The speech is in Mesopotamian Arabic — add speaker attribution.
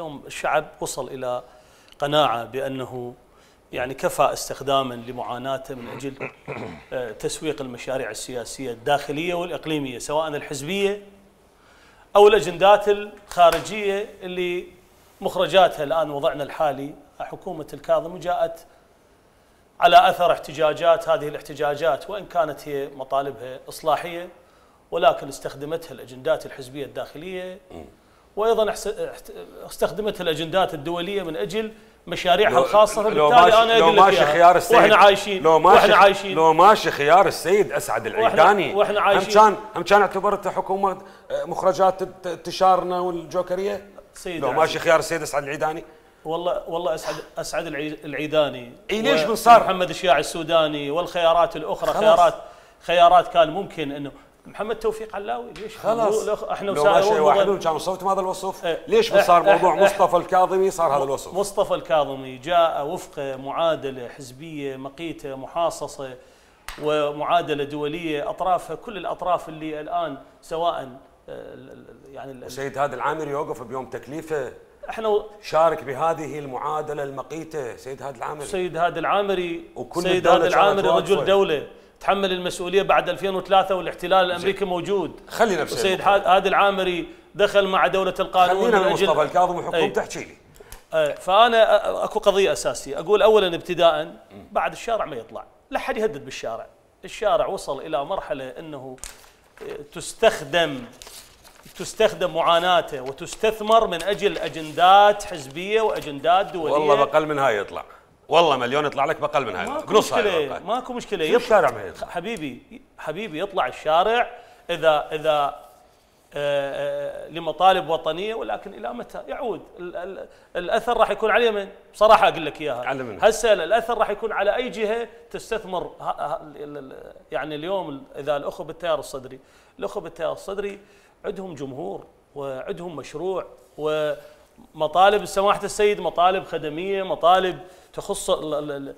Speaker 1: اليوم الشعب وصل إلى قناعة بأنه يعني كفى استخداما لمعاناته من أجل تسويق المشاريع السياسية الداخلية والإقليمية، سواء الحزبية أو الأجندات الخارجية اللي مخرجاتها الآن وضعنا الحالي حكومة الكاظم، وجاءت على أثر احتجاجات. هذه الاحتجاجات وإن كانت هي مطالبها إصلاحية، ولكن استخدمتها الأجندات الحزبية الداخلية، وأيضا استخدمتها الأجندات الدولية من أجل مشاريعها الخاصة. فبالتالي أنا أقول لك
Speaker 2: خيار السيد
Speaker 1: وإحنا عايشين
Speaker 2: لو ماشي خيار السيد أسعد العيداني
Speaker 1: وإحنا عايشين
Speaker 2: هم كان اعتبرته حكومة مخرجات انتشارنا والجوكرية. لو ماشي خيار السيد أسعد العيداني،
Speaker 1: والله أسعد العيداني
Speaker 2: ليش من صار
Speaker 1: محمد الشياعي السوداني والخيارات الأخرى خيارات كان ممكن إنه محمد توفيق علاوي. ليش
Speaker 2: خلاص
Speaker 1: احنا
Speaker 2: لو ماشي واحد كان صوت هذا الوصف؟ ليش صار موضوع مصطفى الكاظمي صار هذا الوصف؟
Speaker 1: مصطفى الكاظمي جاء وفق معادله حزبيه مقيته محاصصه ومعادله دوليه اطرافها كل الاطراف اللي الان سواء يعني
Speaker 2: سيد هادي العامري يوقف بيوم تكليفه.
Speaker 1: احنا
Speaker 2: شارك بهذه المعادله المقيته سيد هادي العامري.
Speaker 1: سيد هادي العامري رجل دوله تحمل المسؤولية بعد 2003 والاحتلال الأمريكي موجود.
Speaker 2: خلينا بسيد
Speaker 1: سيد هادي العامري دخل مع دولة القانون.
Speaker 2: خلينا مصطفى الكاظم وحكومته تحكي لي.
Speaker 1: فأنا أكو قضية أساسية أقول أولا ابتداء بعد الشارع ما يطلع، لا حد يهدد بالشارع. الشارع وصل إلى مرحلة أنه تستخدم معاناته وتستثمر من أجل أجندات حزبية وأجندات دولية.
Speaker 2: والله بقل من هاي يطلع، والله مليون يطلع لك بقل من هاي.
Speaker 1: ماكو مشكلة
Speaker 2: يطلع الشارع ما يطلع.
Speaker 1: حبيبي يطلع الشارع إذا لمطالب وطنية، ولكن إلى متى يعود؟ الأثر راح يكون على من؟ بصراحة أقول لك إياها هسه الأثر راح يكون على أي جهة تستثمر. يعني اليوم إذا الأخوة بالتيار الصدري عندهم جمهور وعندهم مشروع ومطالب سماحة السيد، مطالب خدمية، مطالب تخص